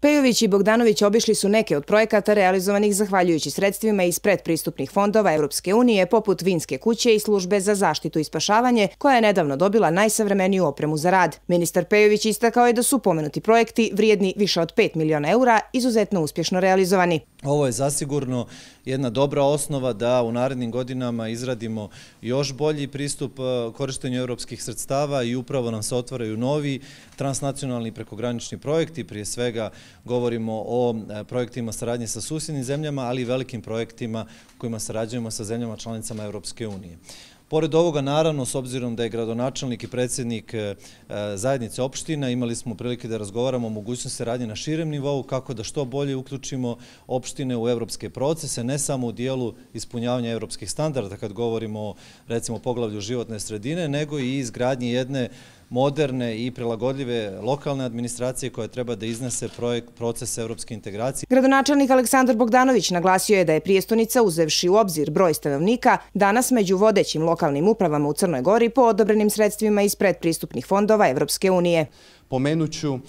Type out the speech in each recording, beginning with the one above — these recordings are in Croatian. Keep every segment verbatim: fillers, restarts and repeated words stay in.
Pejović i Bogdanović obišli su neke od projekata realizovanih zahvaljujući sredstvima iz predpristupnih fondova Evropske unije, poput Vinske kuće i službe za zaštitu i spašavanje, koja je nedavno dobila najsavremeniju opremu za rad. Ministar Pejović istakao je da su pomenuti projekti, vrijedni više od pet miliona eura, izuzetno uspješno realizovani. Ovo je zasigurno jedna dobra osnova da u narednim godinama izradimo još bolji pristup korištenju europskih sredstava i upravo nam se otvaraju novi transnacionalni prekogranični projekti. Prije svega govorimo o projektima saradnje sa susjednim zemljama, ali i velikim projektima kojima sarađujemo sa zemljama članicama Europske unije. Pored ovoga, naravno, s obzirom da je gradonačelnik i predsjednik zajednice opština, imali smo prilike da razgovaramo o mogućnosti saradnje na širem nivou, kako da što bolje uključimo opštine u evropske procese, ne samo u dijelu ispunjavanja evropskih standarda, kad govorimo o, recimo, poglavlju životne sredine, nego i izgradnji jedne moderne i prilagodljive lokalne administracije koja treba da iznese projekt, proces evropske integracije. Gradonačelnik Aleksandar Bogdanović naglasio je da je prijestonica, uzevši u obzir broj stanovnika, danas među vodećim lokalnim upravama u Crnoj Gori po odobrenim sredstvima iz predpristupnih fondova Evropske unije. Pomenut ću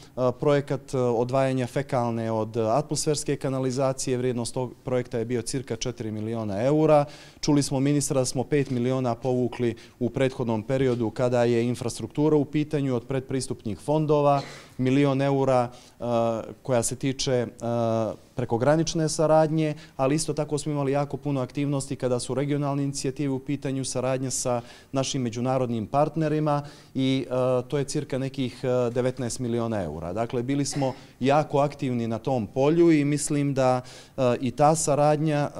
projekat odvajanja fekalne od atmosferske kanalizacije. Vrijednost tog projekta je bio cirka četiri miliona eura. Čuli smo ministra da smo pet miliona povukli u prethodnom periodu kada je infrastruktura u pitanju od predpristupnih fondova, milion eura koja se tiče prekogranične saradnje, ali isto tako smo imali jako puno aktivnosti kada su regionalne inicijative u pitanju, saradnje sa našim međunarodnim partnerima i to je cirka nekih devetnaest miliona eura. Dakle, bili smo jako aktivni na tom polju i mislim da i ta saradnja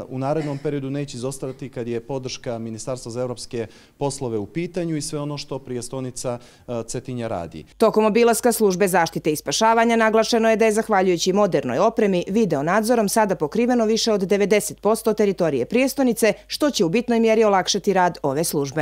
u narednom periodu neće izostati kad je podrška Ministarstva za evropske poslove u pitanju i sve ono što prijestonica Cetinja radi. Tokom obilaska službe zaštite i spašavanja naglašeno je da je zahvaljujući modernoj opremi video nadzorom sada pokriveno više od devedeset posto teritorije prijestonice, što će u bitnoj mjeri olakšati rad ove službe.